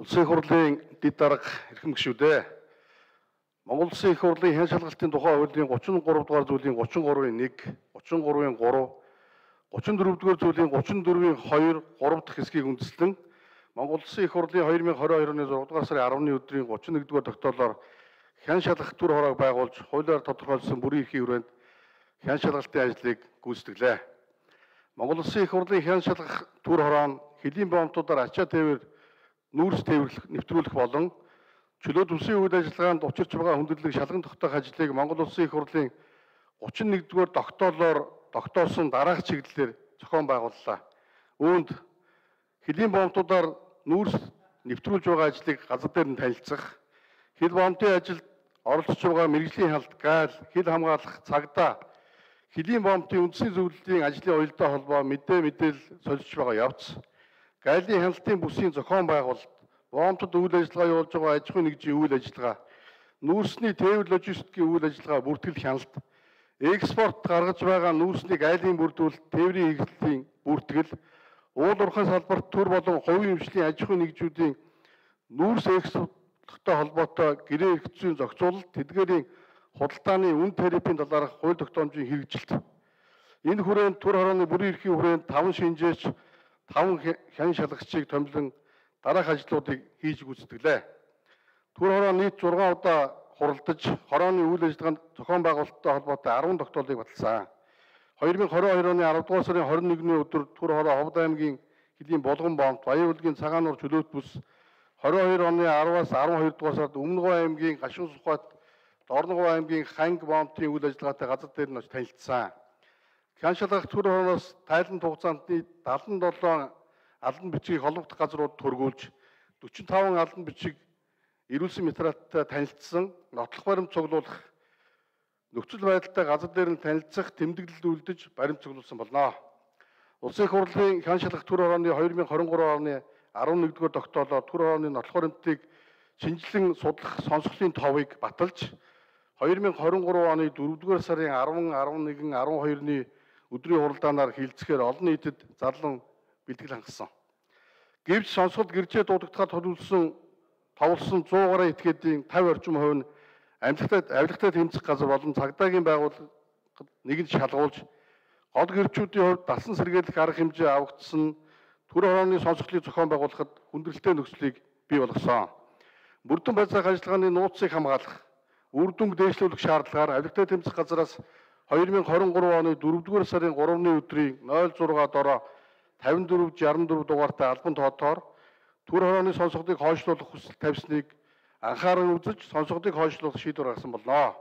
Улсын их хурлын дэд дарга эрхэм гишүүдээ. Монгол Улсын их хурлын хэн шалгалтын тухай хуулийн 33 дугаар зүйлийн 33-ийн 1, 33-ийн 3, 34 дугаар зүйлийн 34-ийн 2, 3 дахь хэсгийг үндэслэн Монгол Улсын их хурлын 2022 оны 6 дугаар сарын 10-ны өдрийн 31 дугаар тогтоолоор хэн шалгах төр хороог байгуулж хуулиар тодорхойлсон бүрийн эрхийн хүрээнд хэн шалгалтын ажлыг гүйцэтгэлээ. Монгол Улсын их хурлын хэн шалгах төр хороо нь хэлийн боомтуудаар ачаа тээвэр нүүрс тээвэрлэх нэвтрүүлэх болон чөлөө төсвийн үйл ажиллагаанд учирч байгаа хүндрэлийг шалган тогтоох ажлыг Монгол Улсын их хурлын 31-р тогтоолоор тогтоосон дараах чиглэлээр зохион байгууллаа. Үүнд хэлийн боомтуудаар нүүрс нэвтрүүлж байгаа ажлыг газар дээр нь танилцах, хил боомтын ажилд оролцож байгаа мэргэжлийн халт, гайл, хил хамгаалах, цагдаа, хэлийн боомтын үндсийн зөвлөлийн ажлын уялдаа холбоо мэдээлэл солилцож байгаа явц, гайлын хяналтын бүсийн зохион байгуулалт, боомтод үйл ажиллагаа явуулж байгаа аж ахуйн нэгжийн үйл ажиллагаа, нүүрсний тээвэр логистикийн үйл ажиллагаа бүртгэл хяналт, экспорт гаргаж байгаа нүүрсний гайлын бүрдүүлэлт, тээврийн хэрэгслийн бүртгэл, уул уурхай салбарт төр болон хувийн эмчлийн аж ахуйн нэгжүүдийн нүүрс экспорттой холбоотой гэрээ эрх зүйн зохицуулалт, тэдгээрийн худалдааны үн тарифын талаарх хууль тогтоомжийн хэрэгжилт. Энэ хүрээнд төр хорооны бүрийн эрхийн хүрээнд 5 шинжээч 5 хэн шалгагчийг томилон дараах ажлуудыг хийж гүйцэтгэлээ. Төр хороо нийт 6 удаа хуралдаж, хорооны үйл ажиллагаанд зохион байгуулалттай холбоотой 10 тогтоолыг баталсан. 2022 оны 10 дугаар сарын 21-ний өдөр Төр хороо Ховд аймгийн хэлийн Булган боомт, Баян-Улгийн Цагаан нуур чөлөөт бүс, 22 оны 10-аас 12 дугаар сард Өмнөгов аймгийн Гашуун Сухбат, Дорногов аймгийн Ханг боомтын үйл ажиллагаатай газар дээр нь танилцсан. Хэн шалгах төр хорооноос тайланд хугацаанд 77 албан бичгийг холбогдох газрууд төргүүлж 45 албан бичиг ирүүлсэн материалтай танилцсан, нотлох баримт цуглуулах, нөхцөл байдалтай газар дээр нь танилцах, тэмдэглэлд үлдэж баримт цуглуулсан болно. Улсын их хурлын хэн шалгах төр хорооны 2023 оны 11-р тогтоолоор төр хорооны нотлох баримтыг шинжилэн судлах сонсголын товыг баталж 2023 оны 4-р сарын 10, 11, 12-ны өдрийн хуралдаанаар хилцэхээр олон нийтэд зарлан бэлтгэл хангасан. Гэвч сонсголт гэрчээ дуудагдахад төлөвлөсөн товлсон 100 гаруй этгээдийн 50 орчим хувь нь авилгатай тэмцэх газар болон цагдаагийн байгууллагад нэгэнд шалгуулж гол гэрчүүдийн хувьд дасан сэргийлэх арга хэмжээ авагдсан төр хорооны сонсголтыг зохион байгуулахад хүндрэлтэй нөхцөлийг бий болгосон. Мөрдөн байцаах ажиллагааны нууцыг хамгаалах, үр дүнг дээшлүүлэх шаардлагаар авилгатай тэмцэх газараас 2023 оны 4-р сарын 3-ны өдрийн 06-дороо 54-64 дугаартай албан тоотоор төр хорооны сонсголтыг хойшлуулах хүсэл тавьсныг анхааран үзэж сонсголтыг хойшлуулах шийдвэр гаргасан болно.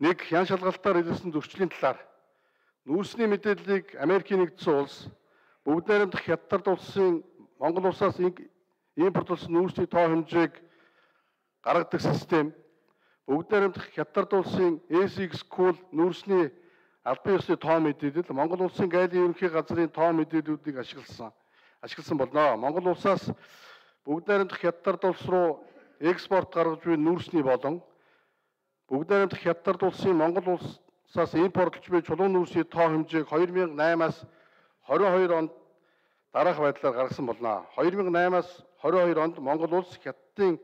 1. Хэн шалгалтаар илэрсэн зөрчлийн талаар нүүрсний мэдээллийг Америкийн нэгдсэн улс, Бүгд найрамдах Хятад улсын Монгол улсаас импортлсон нүүрсний тоо хэмжээг гаргадаг систем, Бүгд найрамдах Хятад улсын SX Cool нүүрсний албан ёсны тоо мэдээлэл, Монгол улсын гайлын ерөнхий газрын тоо мэдээллүүдийг ашигласан болно. Монгол улсаас Бүгд найрамдах Хятад улс руу экспорт гаргаж буй нүүрсний болон Бүгд найрамдах Хятад улсын Монгол улсаас импортлж буй чулуун нүүрсний тоо хэмжээг 2008-аас 22 онд дараах байдлаар гаргасан болно. 2008-аас 22 онд Монгол улс Хятадын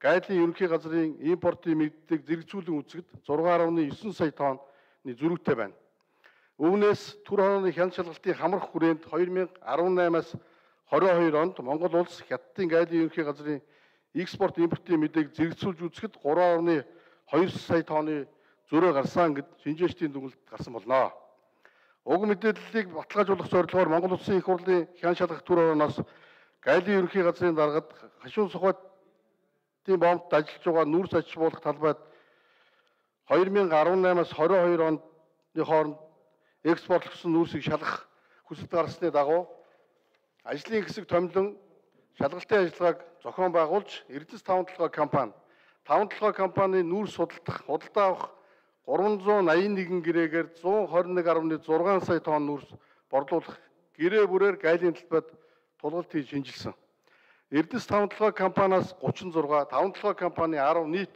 гайлын ерөнхий газрын импортын мэддэг зэрэгцүүлэн үзэхэд 6.9 сая тонны зөрүүтэй байна. Үүнээс төр хорооны хэн шалгалтын хамрах хүрээнд 2018-аас 22 онд Монгол улс Хятадын гайлын ерөнхий газрын экспорт импортын мэдээг зэрэгцүүлж үзэхэд 3.2 сая тонны зөрөө гарсан гэд шинжээчдийн дүгнэлт гарсан болно. Уг мэдээллийг баталгаажуулах зорилгоор Монгол Улсын их хурлын хэн шалгах төр хорооноос гайлын ерөнхий газрын даргад Гашуун Сухбатын боомтод ажиллаж байгаа нүүрс аж ахуйлах талбайд 2018-аас 22 оны хооронд экспортлогдсон нүүрсийг шалгах хүсэлт гаргасны дагуу ажлын хэсэг томилон шалгалтын ажиллагааг зохион байгуулж Эрдэс 5 толгой компани 5 толгой компани нүүрс худалдаа авах 381 гэрээгээр 121.6 сая тонн нүүрс борлуулах гэрээ бүрээр гайлын талбайд тулгалт хийж шинжилсэн. Эрдэс 5 толгой компаниас 36, 5 толгой компани 10 нийт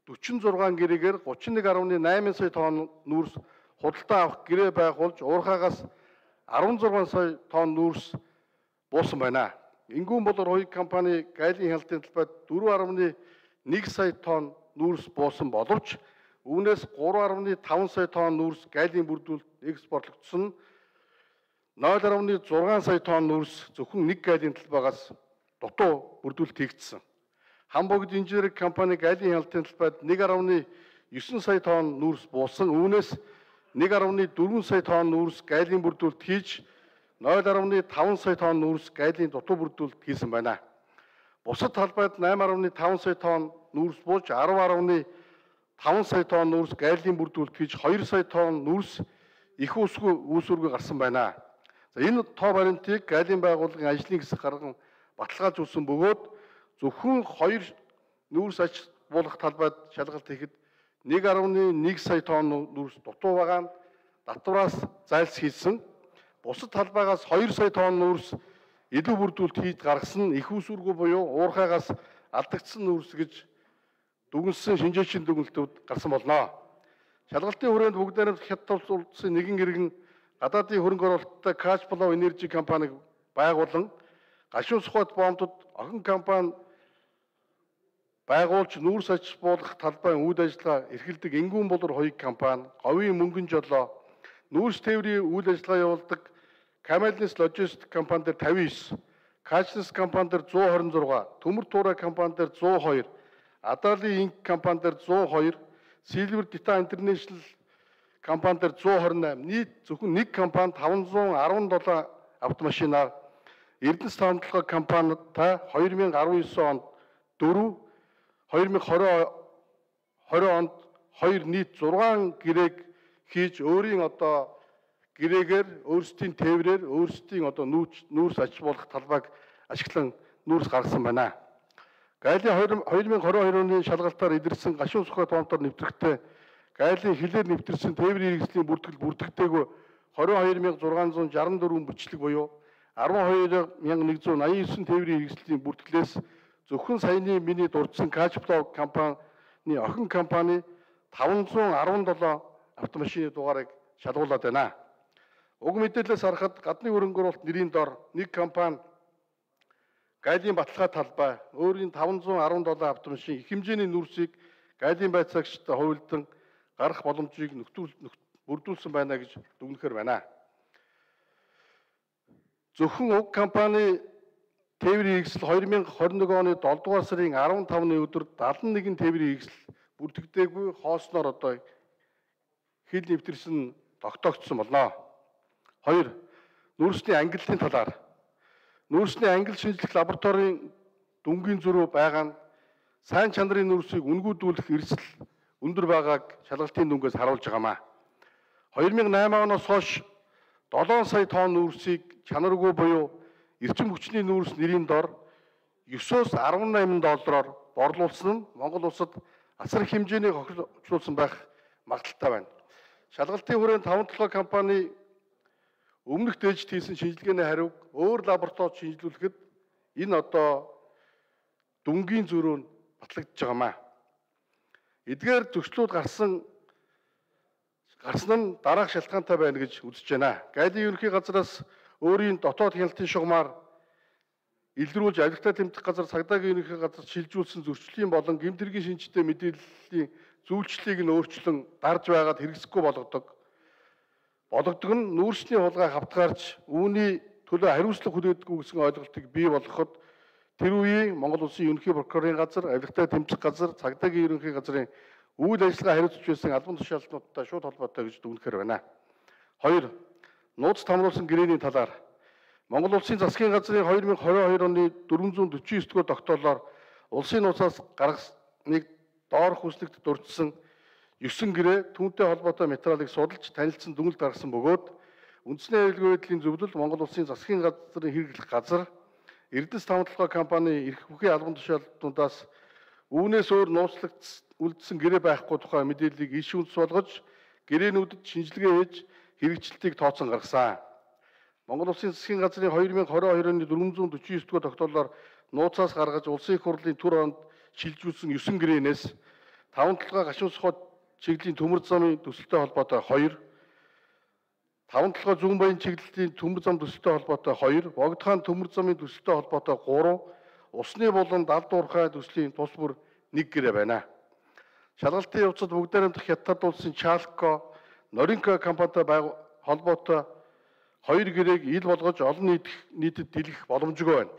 46 гэрээгээр 31.8 сая тонн нүүрс худалдаа авах гэрээ байгуулж уурхаагаас 16 сая тонн нүүрс буусан байна. Энгүүн болор хоёрын компани гайлын хяналтын талбайд 4.1 сая тонн нүүрс буусан боловч үүнээс 3.5 сая тонн нүүрс гайлын бүрдүүлэлт экспортлогдсон. 0.6 сая тонн нүүрс зөвхөн нэг гайлын талбайгаас дутуу бүрдүүлэлт хийгдсэн. Хам богд инженерийн компани гайлын хяналтын талбайд 1.9 сая тонн нүүрс буусан. Үүнээс 1.4 сая тонн нүүрс гайлын бүрдүүлэлт хийж 0.5 сая тонн нүүрс гайлын дутуу бүрдүүлэлт хийсэн байна. Бусад талбайд 8.5 сая тонн нүүрс бууж 10.5 сая тонн нүүрс гайлын бүрдүүлэлт хийж 2 сая тонн нүүрс их усгүй үүсвэргүй гарсан байна. За энэ тоо баримтыг гайлын байгууллагын ажлын хэсэг гарган баталгааж өгсөн бөгөөд зөвхөн 2 нүүрс аж буулгах талбайд шалгалт хийхэд 1.1 сая тонн нүүрс дутуу байгаа нь татвараас зайлсхийсэн. Бусад талбайгаас 2 сая тонн нүүрс илүү бүрдүүлэлт хийж гаргасан нь их усүргүй буюу уурхайгаас алдагдсан нүүрс гэж дүгнсэн шинжээчийн дүгнэлтүүд гарсан болно. Шалгалтын хүрээнд бүгд найрамдах Хятад улсын нэгэн иргэн гадаадын хөрөнгө оруулалттай Кашплов Энержи компаниг байгуулан гашуун сухбат боомтод охин компани байгуулж нүүрс аж буулгах талбайн үйл ажиллагаа эрхэлдэг Энгүүн болор хоёрын компани, Говийн мөнгөн жолоо, нүүрс тээврийн үйл ажиллагаа явуулдаг Камелнес логистик компани дээр 59, Качнес компани дээр 126, Төмөр туурай компани дээр 102, Адали инк компани дээр 102, Silver Data International компани дээр 128, нийт зөвхөн нэг компани 517 автомашинаар Эрдэнэс таамаглалгын компанитай 2019 онд 4, 2020 онд 2 нийт 6 гэрээг хийж өөрийн гэрээгээр өөрсдийн тээврээр өөрсдийн нүүрс аж буулгах талбайг ашиглан нүүрс гаргасан байна. Гайлын 2022 оны шалгалтаар илэрсэн гашуун сухбат боомтоор нэвтрэхтэй гайлын хилээр нэвтэрсэн тээврийн хэрэгслийн бүртгэл бүрдэгтэйгүй 22,664 бичлэг буюу 12,189 тээврийн хэрэгслийн бүртгэлээс зөвхөн саяны миний дурдсан Кашплов компани охин компани 517 автомашины дугаарыг шалгуулад байна. Уг мэдээлэлээс харахад гадны хөрөнгө оруулалт нэрийн дор нэг компани гайлын баталгаа талбай өөрийн 517 автомашин их хэмжээний нүүрсийг гайлын байцаагчтай хувилдан гарах боломжийг бүрдүүлсэн байна гэж дүгнэхээр байна. Зөвхөн уг компани тээврийн хэрэгсэл 2021 оны 7 дугаар сарын 15-ны өдөр 71 тээврийн хэрэгсэл бүрдэгдээгүй хоосноор хил нэвтэрсэн тогтоогдсон болно. 2. Нүүрсний ангиллын талаар. Нүүрсний ангил шинжлэх лабораторийн дүнгийн зөрүү байгаа нь сайн чанарын нүүрсийг үнгүүдүүлэх эрсдэл өндөр байгааг шалгалтын дүнгээс харуулж байгаамаа. 2008 оноос хойш 7 сая тонн нүүрсийг чанаргүй буюу эрчим хүчний нүүрс нэрийн дор 9-өөс 18 доллараар борлуулсан нь Монгол улсад асар их хэмжээний хохирлуулсан байх магадaltaй байна. Шалгалтын хүрээнд 5 компани өмнөх дээжид хийсэн шинжилгээний хариуг өөр лабораторид шинжилүүлэхэд энэ дүнгийн зөрүү нь батлагдж байгаамаа. Эдгээр зөрчлүүд гарсан нь дараах шалтгаантай байна гэж үзэж байна. Гайлын ерөнхий газраас өөрийн дотоод хяналтын шугамар илрүүлж авилгатай тэмдэх газар цагдаагийн ерөнхий газар шилжүүлсэн зөрчлийн болон гэмт хэргийн шинжтэй мэдээллийн зөвлөлтийг нь өөрчлөн дарж байгаад хэрэгсэхгүй болгодог нь нүүрсний хулгайг хавтгаарч үүний төлөө хариуцлага хүлээдэггүй гэсэн ойлголтыг бий болгоход тэр үеийн Монгол Улсын ерөнхий прокурорын газар, авилгатай тэмцэх газар, цагдаагийн ерөнхий газрын үйл ажиллагаа хариуцж байсан албан тушаалтнуудтай шууд холбоотой гэж дүгнэхээр байна. 2. Нууц тамруулсан гэрээний талаар Монгол Улсын засгийн газрын 2022 оны 449 дугаар тогтоолоор улсын нууцаас гаргасныг доорх хүслэгт дурдсан 9 гэрээ түүнтэй холбоотой материалыг судалж танилцсан дүгнэлт гаргасан бөгөөд үндэсний аюулгүй байдлын зөвлөл Монгол Улсын засгийн газрын хэрэглэх газар Эрдэнэс таамаглалгын компани эрх бүхий албан тушаалтнуудаас үүнээс өөр нууцлагдсан гэрээ байхгүй тухай мэдээллийг иш үндэс болгож гэрээнүүдэд шинжилгээ хийж хэрэгжилтийг тооцон гаргасан. Монгол Улсын засгийн газрын 2022 оны 449 дугаар тогтоолоор нууцаас гаргаж улсын их хурлын түр оронд шилжүүлсэн 9 гэрээнээс 5 толгой гашуун сухбат чиглэлийн төмөр замын төсөлтэй холбоотой 2, 5 толгой зүүн баян чиглэлийн төмөр зам төсөлтэй холбоотой 2, Богдхан төмөр замын төсөлтэй холбоотой 3, усны булан далд уурхай төслийн тус бүр 1 гэрээ байна. Шалгалтын явцад бүгд найрамдах Хятад улсын Чалко, Норинко компанитай холбоотой 2 гэрээг ил болгож олон нийтэд дэлгэх боломжгүй байна.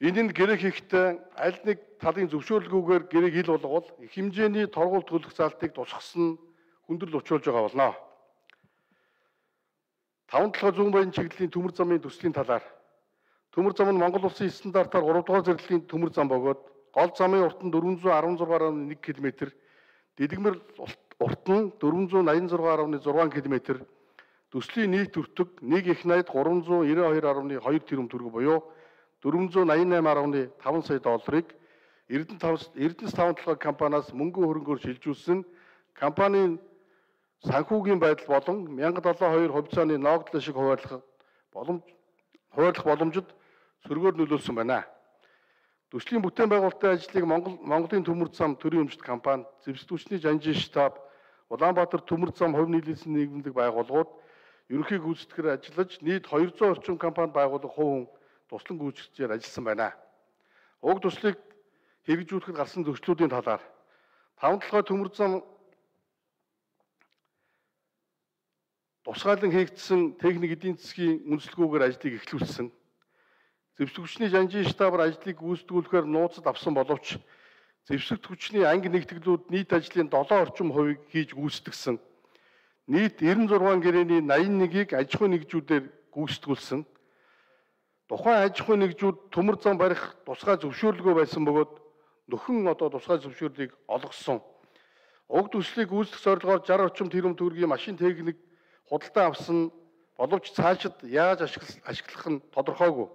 Энэнд гэрээ хийхдээ аль нэг талын зөвшөөрлгүйгээр гэрээг ил болгол их хэмжээний торгууль төлөх залтыг тусгасан хүндрэл учруулж байгаа болно. 5 толгой зүүн баян чиглэлийн төмөр замын төслийн талаар төмөр зам нь Монгол улсын стандартаар 3 дугаар зэрэглэлийн төмөр зам бөгөөд гол замын урт нь 416.1 км, дэлгэмэр урт нь 486.6 км, төслийн нийт өртөг 1 их найд 392.2 тэрбум төгрөг буюу 488.5 сая долларыг Эрдэнэс 5 толгой компаниас мөнгөн хөрөнгөөр шилжүүлсэн компанийн санхүүгийн байдал болон 1072 хувьцааны ногдлын шиг хуваарлах боломжид сөргөөр нөлөөлсөн байна. Төслийн бүтээн байгуулалтын ажлыг Монголын төмөр зам төрийн өмчт компани, зэвсэгтгүүчний жанжин штаб, Улаанбаатар төмөр зам хувь нийлүүлсэн нийгэмлэг байгууллагууд ерөнхий гүйцэтгэгээр ажиллаж нийт 200 орчим компани байгуулах хувь хүн туслан гүйцэтгэжээр ажилласан байна. Уг төслийг хэрэгжүүлэхэд гарсан зөрчлүүдийн талаар 5 толгой төмөр зам тусгайлан хийгдсэн техник эдийн засгийн үндэслэгүүгээр ажлыг эхлүүлсэн. Зэвсэгтгүүчний жанжин штабаар ажлыг гүйцэтгүүлэхээр нууцад авсан боловч зэвсэгтгүүчний анги нэгтгэлүүд нийт ажлын 7 орчим хувийг хийж гүйцэтгсэн. Нийт 96 гэрээний 81-ийг аж ахуйн нэгжүүдээр гүйцэтгүүлсэн. Тухайн аж ахуйн нэгжүүд төмөр зам барих тусгай зөвшөөрлөгөө байсан бөгөөд нөхөн тусгай зөвшөөрлийг олгосон. Уг төслийг гүйцэтгэх зорилгоор 60 орчим тэрбум төгрөгийн машин техник худалдан авсан боловч цаашид яаж ашиглах нь тодорхойгүй.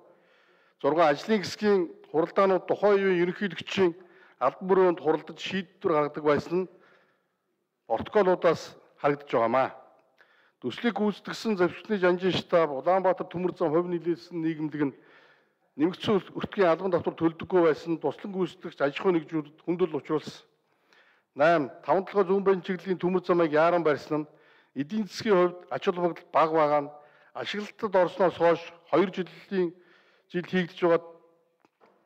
6 ажлын хэсгийн хуралдаанууд тухайн үеийн ерөнхийлөгчийн албан бүрээнд хуралдаж шийдвэр гаргадаг байсан нь протоколуудаас харагдаж байгаамаа. Төслийг гүйцэтгсэн зэвсэгтний жанжин штаб, Улаанбаатар төмөр зам хувь нийлүүлсэн нийгэмлэг нь нэмэгдсэн өртгийн албан давтар төлдөггүй байсан туслан гүйцэтгэгч аж ахуйн нэгжүүдэд хүндрэл учруулсан. 8. 5 толгой зүүн баян чиглэлийн төмөр замыг яаран барьсан нь эдийн засгийн хувьд ач холбогдол бага байгаа нь ашиглалтад орсноос хойш 2 жил хийгдэж байгаа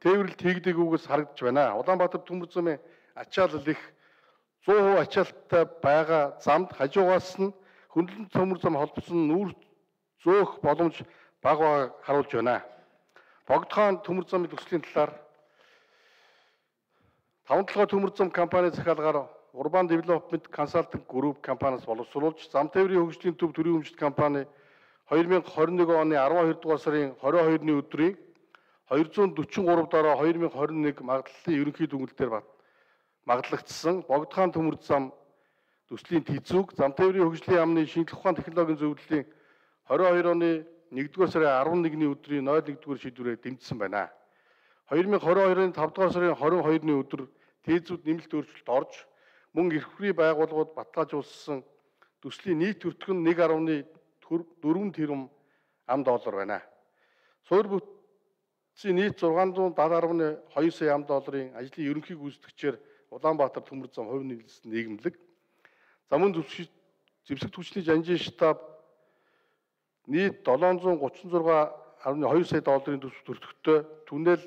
тээвэрлэлт хийгдээгүйгээс харагдаж байна. Улаанбаатар төмөр замын ачаалал их 100% ачаалттай байгаа замд хажуугаас нь хөндлөн төмөр зам холбосон нүүр зөөх боломж бага байгааг харуулж байна. Богдхан төмөр замын төслийн талаар 5 толгой төмөр зам компани захиалгаар Urban Development Consulting Group компаниас боловсруулж зам тээврийн хөгжлийн төв төрийн өмчт компани 2021 оны 12 дугаар сарын 22-ны өдрийн 243 дараа 2021 магадлалын ерөнхий дүгнэлтээр магадлагдсан Богдхан төмөр зам төслийн тэзүүг зам тээврийн хөгжлийн яамны шинжлэх ухааны технологийн зөвлөлийн 22 оны 1-р сарын 11-ний өдрийн 01-р шийдвэрээр дэмжсэн байна. 2022-ын 5 дугаар сарын 22-ны өдөр тэзүүд нэмэлт өөрчлөлт орж мөн эрх хүрээ байгууллагууд баталгаажуулсан төслийн нийт өртөг нь 1.4 тэрбум ам доллар байна. Суур бүтцийн нийт 670.2 сая ам долларын ажлын ерөнхий гүйцэтгэгчээр Улаанбаатар төмөр зам хувь нийлүүлсэн нийгэмлэг, замын зэвсэгтгүүчний жанжин штаб нийт 736.2 сая долларын төсөвт өртөгтэй түнэл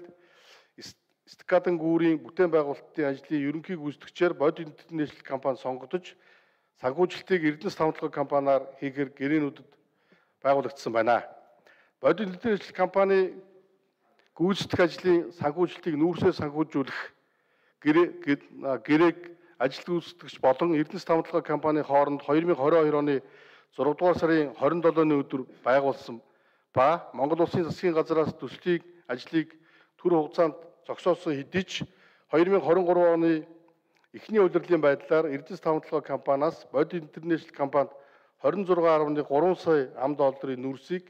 Стакадан гүүрийн бүтээн байгуулалтын ажлын ерөнхий гүйцэтгэгчээр Бодит Интернэшнл компани сонгогдож санхүүжилтийг Эрдэнэс 5 толгой компаниар хийхээр гэрээнүүдэд байгуулагдсан байна. Бодит Интернэшнл компани гүйцэтгэх ажлын санхүүжилтийг нүүрсээр санхүүжүүлэх гэрээг ажил гүйцэтгэгч болон Эрдэнэс 5 толгой компани хооронд 2022 оны 6 дугаар сарын 27-ны өдөр байгуулсан ба Монгол Улсын засгийн газраас төслийг ажлыг төр хугацаанд зогсоосон хэдий ч 2023 оны эхний удирдлагын байдлаар Эрдэнэс 5 толгой компаниас Бодит Интернэшнл компанид 26.3 сая ам долларын нүүрсийг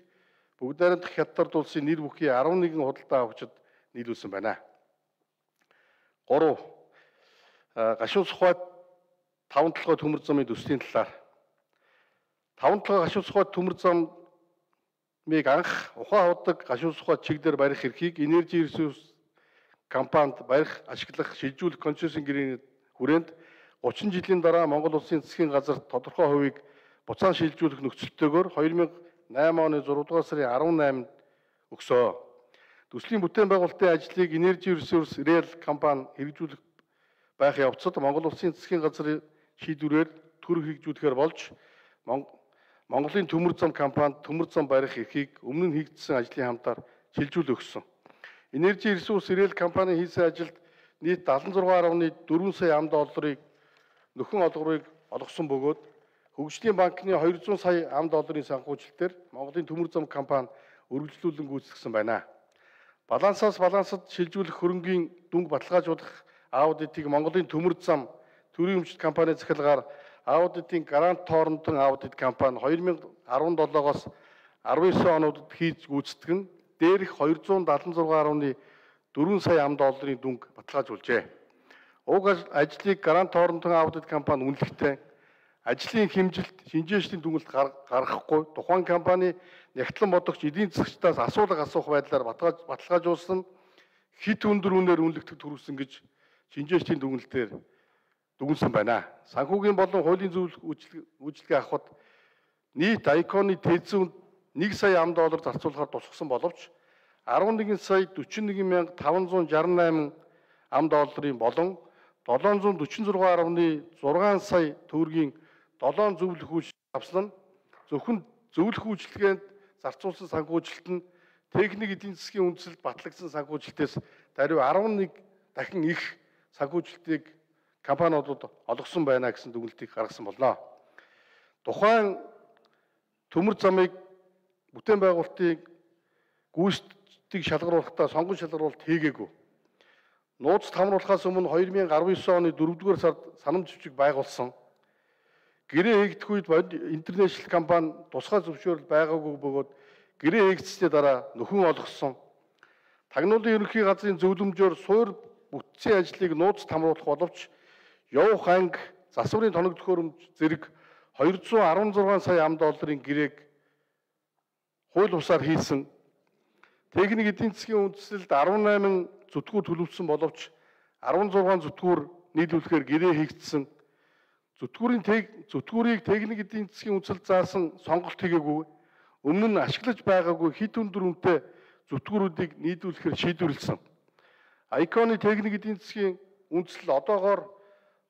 бүгд найрамдах Хятад улсын нэр бүхий 11 худалдаа авагчид нийлүүлсэн байна. 3. Гашуун Сухбат 5 толгой төмөр замын төслийн талаар 5 толгой Гашуун Сухбат төмөр замыг анх ухаан худаг Гашуун Сухбат чиглэлээр барих эрхийг Energy Resources компанид барих, ашиглах, шилжүүлэх концессийн гэрээний хүрээнд 30 жилийн дараа Монгол Улсын засгийн газар тодорхой хувийг буцаан шилжүүлэх нөхцөлтэйгээр 2008 оны 6 дугаар сарын 18-нд өгсөө. Төслийн бүтээн байгуулалтын ажлыг Energy Resource Rail компани хэрэгжүүлэх байх явцад Монгол Улсын засгийн газрын шийдвэрээр төр хэрэгжүүлэхээр болж Монголын төмөр зам компанид төмөр зам барих эрхийг өмнө нь хийгдсэн ажлын хамтаар шилжүүл өгсөн. Energy Resource Rail компани хийсэн ажилд нийт 76.4 сая $, нөхөн олгорыг олгосон бөгөөд Хөгжлийн банкны 200 сая $, санхүүжилтээр Монголын төмөр зам компани үргэлжлүүлэн гүйцэтгэсэн байна. Балансаас балансад шилжүүлэх хөрөнгийн дүнг баталгаажуулах аудитыг Монголын төмөр зам төрийн өмчт компани захиргаар аудитын Грант Торнтон аудит компани 2017-оос 19 онуудад хийж гүйцэтгэн дээрх 276.4 сая $, дүнг баталгаажуулжээ. Уг ажлыг Грант Торнтон аудит компани үнэлэхдээ ажлын хэмжилт шинжээчдийн дүгнэлт гаргахгүй тухайн компани нягтлан бодогч эдийн засагчдаас асуулга асуух байдлаар баталгаажуулсан хит өндөр үнээр үнэлэгдэх төрүүлсэн гэж шинжээчдийн дүгнэлтээр дүгнсэн байна. Санхүүгийн болон хуулийн үйлчилгээ авахд нийт Icon-ы тээзэн $1 сая зарцуулахаар тусгасан боловч 11 сая 41,568 $, болон 746.6 сая төгрөгийн 7 зөвлөх үйлчлэл авсан нь зөвхөн зөвлөх үйлчлэгээнд зарцуулсан санхүүжилт нь техник эдийн засгийн үндэслэлд батлагдсан санхүүжилтээс даруй 11 дахин их санхүүжилтийг компаниудад олгосон байна гэсэн дүгнэлтийг гаргасан болно. Тухайн төмөр замыг бүтээн байгуулалтыг гүйцэтгэх шалгаруулахдаа сонгон шалгаруулалт хийгээгүй. Нууцд хамруулахаас өмнө 2019 оны 4-р сард санамж зэвсэг байгуулсан. Гэрээ хийгдэх үед интернэшнл компани тусгай зөвшөөрөл байгаагүй бөгөөд гэрээ хийгдсэний дараа нөхөн олгосон. Тагнуулын ерөнхий газрын зөвлөмжөөр суур бүтцийн ажлыг нууцд хамруулах боловч явах анги засварын тоног төхөөрөмж зэрэг 216 сая $, гэрээг хууль бусаар хийсэн. Техник эдийн засгийн үндэслэлд 18 зүтгүүр төлөвлөсөн боловч 16 зүтгүүр нийлүүлэхээр гэрээ хийгдсэн. Зүтгүүрийг техник эдийн засгийн үндэслэлд заасан сонголт хийгээгүй. Өмнө нь ашиглаж байгаагүй хит өндөр үнэтэй зүтгүүрүүдийг нийлүүлэхээр шийдвэрлсэн. Icon-ы техник эдийн засгийн үндэслэл одоогоор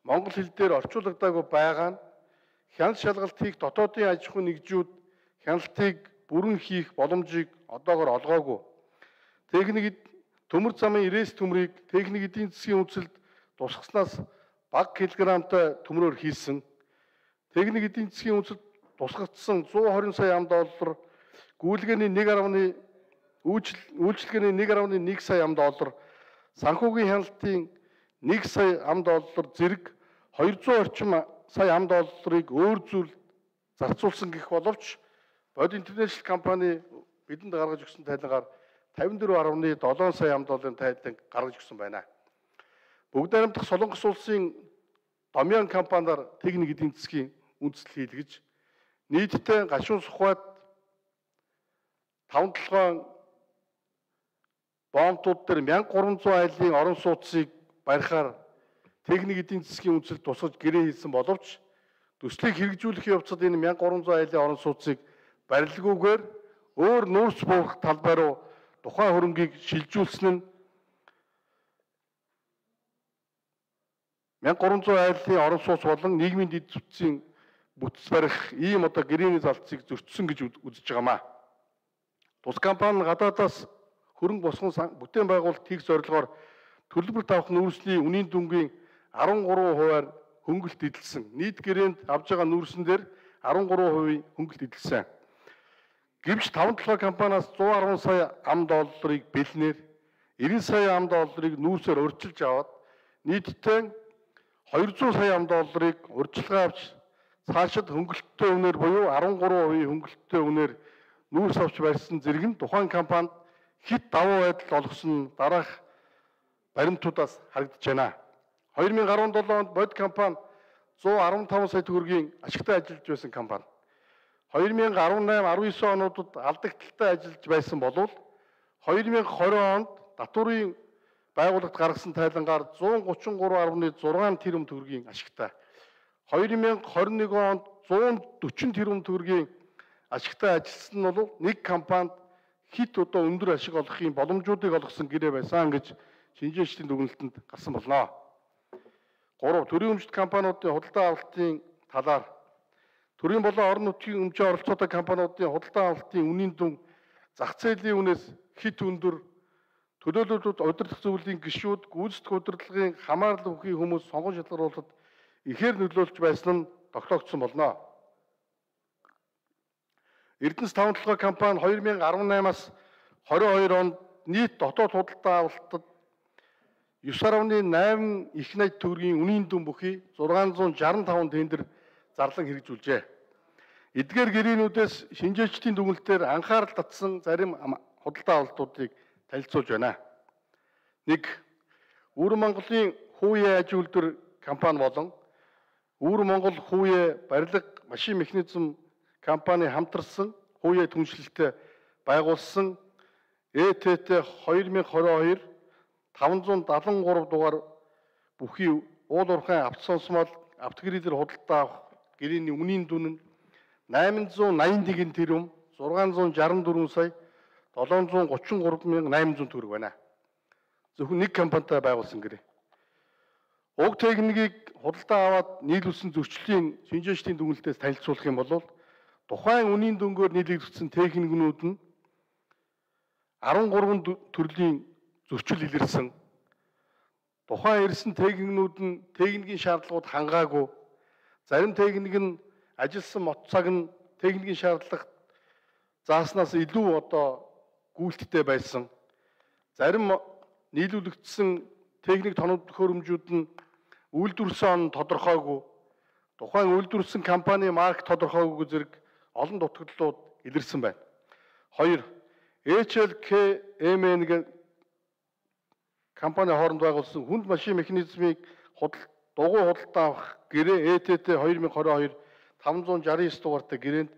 монгол хэл дээр орчуулагдаагүй байгаа нь хяналт шалгалт хийх дотоодын аж ахуйн нэгжүүд хяналтыг бүрэн хийх боломжийг одоогоор олгоогүй. Төмөр замын ирээс төмрийг техник эдийн засгийн үндэслэлд тусгаснаас бага килограммтай төмрөөр хийсэн. Техник эдийн засгийн үндэслэлд тусгагдсан 120 сая $, гүйлгээний 1.1 үйлчилгээний 1.1 сая $, санхүүгийн хяналтын 1 сая $, зэрэг 200 орчим сая $-ыг өөр зүйл зарцуулсан гэх боловч Бод интернэшнл компани бидэнд гаргаж өгсөн тайлангаар 54.7 сая $-ын тайлан гаргаж өгсөн байна. Бүгд найрамдах Солонгос улсын Домьян компаниар техник эдийн засгийн үндэслэл хийлгэж нийтдээ гашуун сухбайд 5-7 бомтууд дээр 1300 айлын орон сууцыг барихаар техник эдийн засгийн үндэслэлд тусгаж гэрээ хийсэн боловч төслийг хэрэгжүүлэх явцад энэ 1300 айлын орон сууцыг барилгүйгээр өөр нүүрс буух талбай руу тухайн хөрөнгийг шилжүүлсэн нь 1300 айлын орон сууц болон нийгмийн дэд бүтцийн бүтц барих ийм гэрээний залтцыг зөрчсөн гэж үзэж байгаамаа. Тус компани гадаадаас хөрөнгө босгон бүтээн байгуулалт хийх зорилгоор төлбөрт авах нүүрсний үнийн дүнгийн 13%-аар хөнгөлт эдэлсэн. Нийт гэрээнд авж байгаа нүүрсэн дээр 13% хөнгөлт эдэлсэн. Гэвч 5-7 компаниас 110 сая $-ыг бэлнээр 90 сая $-ыг нүүрсээр урьдчилж аваад нийтдээ 200 сая $-ыг урьдчилгаа авч цаашид хөнгөлттэй үнээр буюу 13% хөнгөлттэй үнээр нүүрс авч барьсан зэрэг нь тухайн компанид хит давуу байдал олгосон дараах баримтуудаас харагдаж байна. 2017 онд Бод компани 115 сая төгрөгийн ашигтай ажиллаж байсан компани. 2018-19 онуудад алдагдaltaй ажиллаж байсан болов 2020 онд татварын байгууллагт гаргасан тайлангаар 133.6 тэрбум төгрөгийн ашигтай. 2021 онд 140 тэрбум төгрөгийн ашигтай ажилласан нь бол нэг компанид хэд одоо өндөр ашиг олохын боломжуудыг олгосон гэрээ байсан гэж шинжээчдийн дүгнэлтэнд гарсан болно. 3. Төрийн өмчт компаниудын худалдаа авалтын талаар төрийн болон орон нутгийн өмчийн оролцоотой компаниудын худалдаа авалтын үнийн дүн зах зээлийн үнээс хэд өндөр, төлөөлөлтүүд удирдах зөвлөлийн гишүүд гүйцэтгэх удирдлагын хамаарлал бүхий хүмүүс сонгон шалгаруулалт ихээр нөлөөлж байсан нь тогтоогдсон болно. Эрдэнэс тавталгаа компани 2018-аас 22 онд нийт дотоод худалдаа авалтад 9.8 их найт төгрөгийн үнийн дүн бүхий 665 тендер зарлан хэрэгжүүлжээ. Эдгээр гэрээнүүдээс шинжээчдийн дүгнэлтээр анхаарал татсан зарим худалдаа авалтуудыг танилцуулж байна. 1. Өвөр Монголын Хүүе аж үйлдвэр компани болон Өвөр Монгол Хүүе барилга машин механизм компани хамтарсан Хүүе түншлэлтэй байгуулсан ЭТТ 2022 573 дугаар бүхий уул уурхайн авто сонсмол автогридер худалдаа авах гэрээний үнийн дүн нь 881 тэрбум 664 сая 733,800 төгрөг байна. Зөвхөн нэг компанитай байгуулсан гэрээ. Уг техникийг худалдаа аваад нийлүүлсэн зөрчлийн шинжээчдийн дүгнэлтээс танилцуулах юм бол тухайн үнийн дүнгээр нийлэгдсэн техникнүүд нь 13 төрлийн зөрчил илэрсэн. Тухайн ирсэн техникнүүд нь техникийн шаардлагууд хангаагүй. Зарим техник нь ажилласан мот цаг нь техникийн шаардлагад зааснаас илүү одоо гүйлттэй байсан. Зарим нийлүүлэгдсэн техник тоног төхөөрөмжүүд нь үйлдвэрсэн он тодорхойгүй. Тухайн үйлдвэрсэн компани марк тодорхойгүй зэрэг олон дутагдлууд илэрсэн байна. 2. HLKMN гэх компани хооронд байгуулсан хүнд машин механизмыг дугуй худалдаа авах гэрээ ЭТТ 2022 569 дугаартай гэрээнд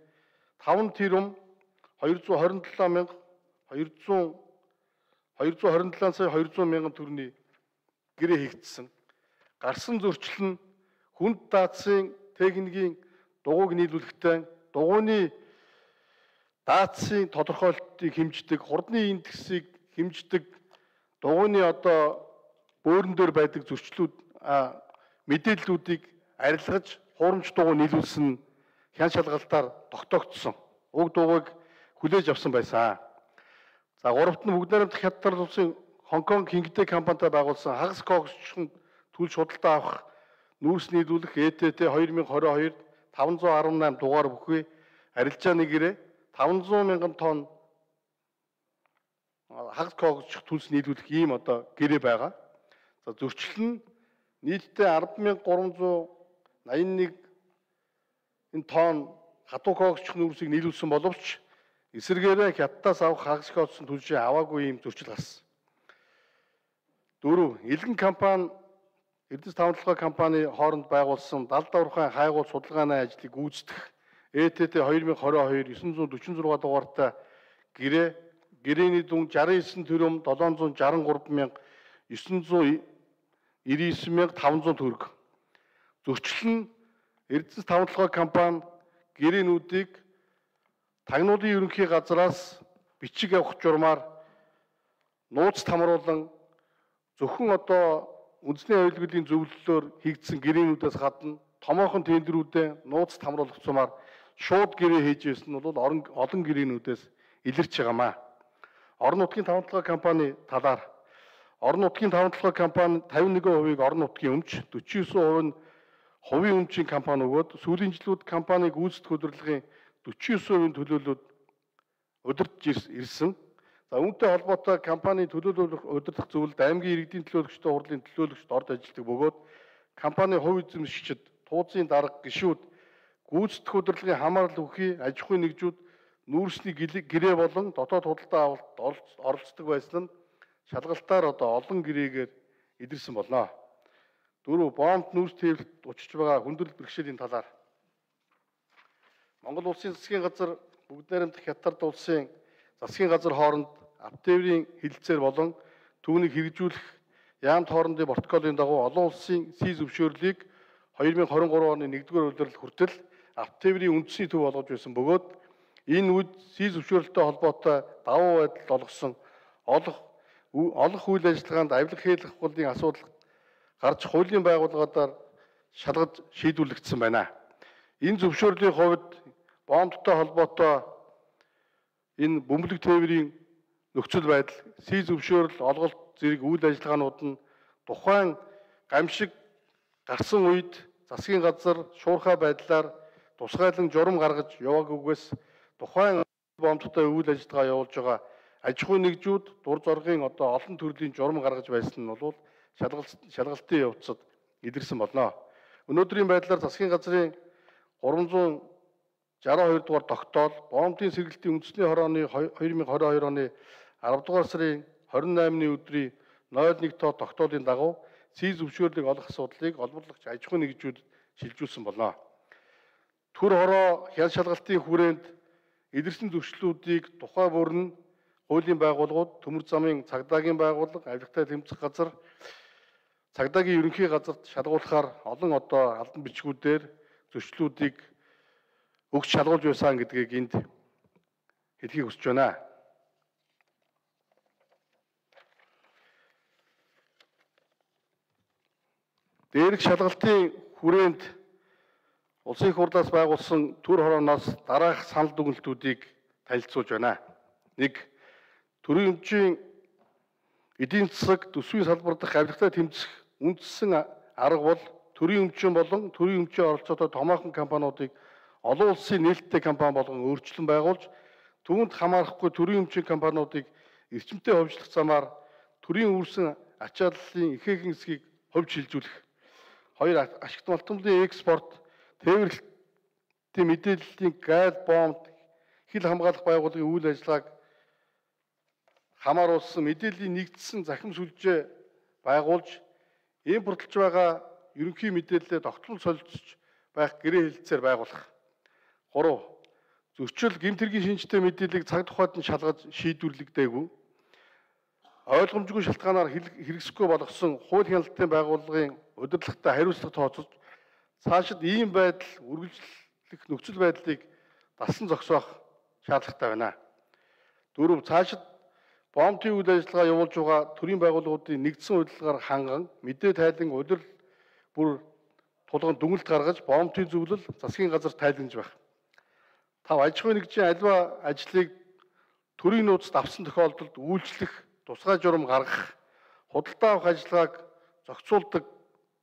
5 тэрбум 227 сая 200 мянган төгрөгийн гэрээ хийгдсэн. Гарсан зөрчил нь хүнд даацын техникийн дугуйг нийлүүлэхдээ дугуйны даацын тодорхойлолтыг хэмждэг, хурдны индексийг хэмждэг, дугуйны одоо бөөрөн дээр байдаг зөрчлүүд мэдээллүүдийг арилгаж хуурамч дугуй нийлүүлсэн хян шалгалтаар тогтоогдсон. Уг дугуйг хүлээж авсан байсан. За 3-т нь бүгд найрамдах хятад улсын Хонконг Кингтэй компанитай байгуулсан хагас когсчхон төлж худалдаа авах нүүрс нийлүүлэх ЭТТ 2022 518 дугаар бүхий арилжааны гэрээ 500 мянган тонн хагас когсч төлс нийлүүлэх ийм одоо гэрээ байгаа. За зөрчил нь нийтдээ 10,381 тонн хатуу когсч нүүрсийг нийлүүлсэн боловч эсвэргээрээ хятадаас авах хагас когсч төлжээ аваагүй ийм зөрчил гарсан. 4. Илгэн компани Эрдэнэс тавталгаа компани хооронд байгуулсан далд уурхайн хайгуул судалгааны ажлыг гүйцэтгэх ЭТТ 2022 946 дугаартай гэрээний дүн 69 тэрбум 763,999,500 төгрөг. Зөрчил нь Эрдэнэс тавталгаа компани гэрээнүүдийг тагнуулын ерөнхий газраас бичиг авах журмаар нууц тамруулан зөвхөн одоо үндэсний аюулгүйлийн зөвлөлөөр хийгдсэн гэрээнүүдээс гадна томоохон тендерүүдэд нууц тамруулах цумаар шууд гэрээ хийж ирсэн нь бол олон гэрээнүүдээс илэрч байгаамаа. Орон нутгийн тавталгаа компани талаар орон нутгийн тавталгаа компани 51% орон нутгийн өмч, 49% нь хувийн өмчийн компани өгөөд сүүлийн жилүүд компаниг гүйцэтгэх удирдлагын 49% төлөөлөлд удирдж ирсэн. За үүнтэй холбоотой компанийн төлөөлөх удирдах зөвлөлд аймгийн иргэдийн төлөөлөгчдийн хурлын төлөөлөгчд орж ажилладаг бөгөөд компани хувь эзэмшигчид, тууцын дарга, гишүүд, гүйцэтгэх удирдлагын хамаарлал бүхий аж ахуйн нэгжүүд нүүрсний гэрээ болон дотоод худалдаа авалт оролцдог байсан нь шалгалтаар одоо олон гэрээгээр илэрсэн болно. 4. Бомб нүүрс тээврэлт учирч байгаа хүндрэл бэрхшээлийн талаар Монгол улсын засгийн газар бүгд найрамдах хятад улсын засгийн газар хооронд автотээврийн хилцээр болон түүнийг хэрэгжүүлэх яамт хоорондын протоколын дагуу олон улсын СИ зөвшөөрлийг 2023 оны 1-р улирал хүртэл автотээврийн үндэсний төв болгож байсан бөгөөд энэ үед сий зөвшөөрөлтөй холбоотой давуу байдалд олгосон олох үйл ажиллагаанд авилга хийх хуулийн асуудал гарч хуулийн байгууллагуудаар шалгаж шийдвэрлэгдсэн байна. Энэ зөвшөөрлийн хувьд боомттой холбоотой энэ бөмбөлөг тээврийн нөхцөл байдал, сий зөвшөөрөл, олголт зэрэг үйл ажиллагаанууд нь тухайн гамшиг гарсан үед засгийн газар шуурхай байдлаар тусгайлан журам гаргаж яваагүйгээс тухайн боомттой үйл ажиллагаа явуулж байгаа аж ахуй нэгжүүд дур зоргийн олон төрлийн журам гаргаж байсан нь бол шалгалтын явцад илэрсэн болно. Өнөөдрийн байдлаар засгийн газрын 362 дугаар тогтоол боомтын сэргэлтийн үндэсний хорооны 2022 оны 10 дугаар сарын 28-ны өдрийн 01 тоо тогтоолын дагуу сий зөвшөөрлийг олох асуудлыг олборлогч аж ахуй нэгжүүд шилжүүлсэн болно. Төр хороо хян шалгалтын хүрээнд илэрсэн зөрчлүүдийг тухай бүр нь хуулийн байгууллагууд, төмөр замын цагдаагийн байгууллага, авилгатай тэмцэх газар, цагдаагийн ерөнхий газарт шалгуулахаар олон албан бичгүүдээр зөрчлүүдийг өгч шалгуулж байсан гэдгийг энд хэлхийг хүсэж байна. Дээрх шалгалтын хүрээнд Улсын их хурлаас байгуулсан төр хорооноос дараах санал дүгнэлтүүдийг танилцуулж байна. 1. Төрийн өмчийн эдийн засаг төсвийн салбар дахь авилгатай тэмцэх үндсэн арга бол төрийн өмчийн болон төрийн өмчийн оролцоотой томоохон компаниудыг олон улсын нээлттэй компани болгон өөрчлөн байгуулж түүнд хамаарахгүй төрийн өмчийн компаниудыг эрчимтэй хөгжлөх замаар төрийн үүрсэн ачааллын ихээхэн хэсгийг хувьд шилжүүлэх. 2. Ашигт малтмлын экспорт, тээвэрлэлтийн мэдээллийн гал боомт хил хамгаалах байгууллагын үйл ажиллагааг хамааруулсан мэдээллийн нэгдсэн захим сүлжээ байгуулж импортлж байгаа ерөнхий мэдээлэлээ тогтмол солилцож байх гэрээ хэлэлцээр байгуулах. 3. Зөрчил гэмтэргийн шинжтэй мэдээллийг цаг тухайд нь шалгаж шийдвэрлэгдээгүй. Ойлгомжгүй шалтгаанаар хэрэгсэхгүй болгосон хууль хяналтын байгууллагын удирдлагатай хариуцлага тооцож цаашид ийм байдал үргэлжлэх нөхцөл байдлыг дасан зогсоох шаардлагатай байна. 4. Цаашид боомтын үйл ажиллагаа явуулж байгаа төрийн байгууллагуудын нэгдсэн удирдлагаар ханган мэдээ тайлан удирдал бүр тулганд дүгнэлт гаргаж боомтын зөвлөл засгийн газар тайлгнаж байх. 5. Аж ахуй нэгжийн аливаа ажлыг төрийн нууцд авсан тохиолдолд үйлчлэх, тусгай журам гаргах, худалдаа авах ажиллагааг зохицуулдаг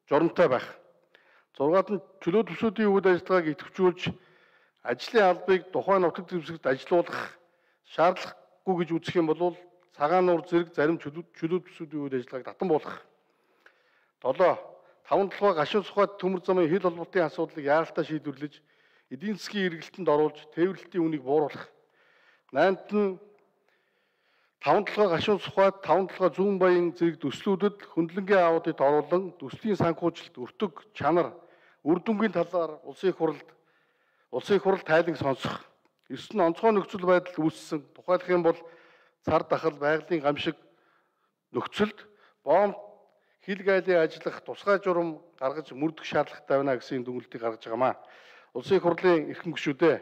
журамтай байх. 6-ад нь чөлөө төсвүүдийн үйл ажиллагааг идэвхжүүлж ажлын албыг тухайн нутаг дэвсгэрт ажилуулах шаардлагагүй гэж үзэх юм бол цагаан нуур зэрэг зарим чөлөө төсвүүдийн үйл ажиллагааг татан буулгах. 7. 5 толгой гашуун сухад төмөр замын хил холбоотын асуудлыг яаралтай шийдвэрлэж эдийн засгийн эргэлтэнд оруулж тээвэрлэлтийн үнийг бууруулах. 8-д нь 5 толгой гашуун сухад 5 толгой зүүн баян зэрэг төслүүдэд хөндлөнгийн аудит оруулан төслийн санхүүжилт, өртөг, чанар, үр дүнгийн талаар улсын их хурл тайлан сонсох. 9 нь онцгой нөхцөл байдал үүссэн. Тухайлах юм бол цар тахал, байгалийн гамшиг нөхцөлд боомт хил гайлын ажиллах тусгай журам гаргаж мөрдөх шаардлагатай байна гэсэн дүгнэлтийг гаргаж байгаамаа. Улсын их хурлын эрхэм гишүүдээ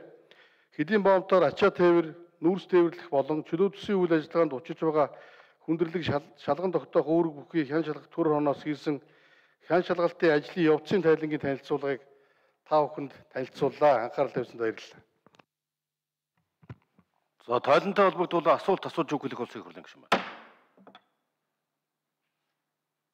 хэдийн боомтоор ачаа тээвэр, нүүрс тээвэрлэх болон чөлөө төсвийн үйл ажиллагаанд учиж байгаа хүндрэлийг шалган тогтоох үүрэг бүхий хян шалгах төр хорооноос хийсэн хян шалгалтын ажлын явцын тайлангийн танилцуулгыг та бүхэнд танилцууллаа. Анхаарал тавьсанд баярлалаа. За тойлонтой холбогдуулан асуулт асууж өгөх улсын их хурлын гишүүн байна.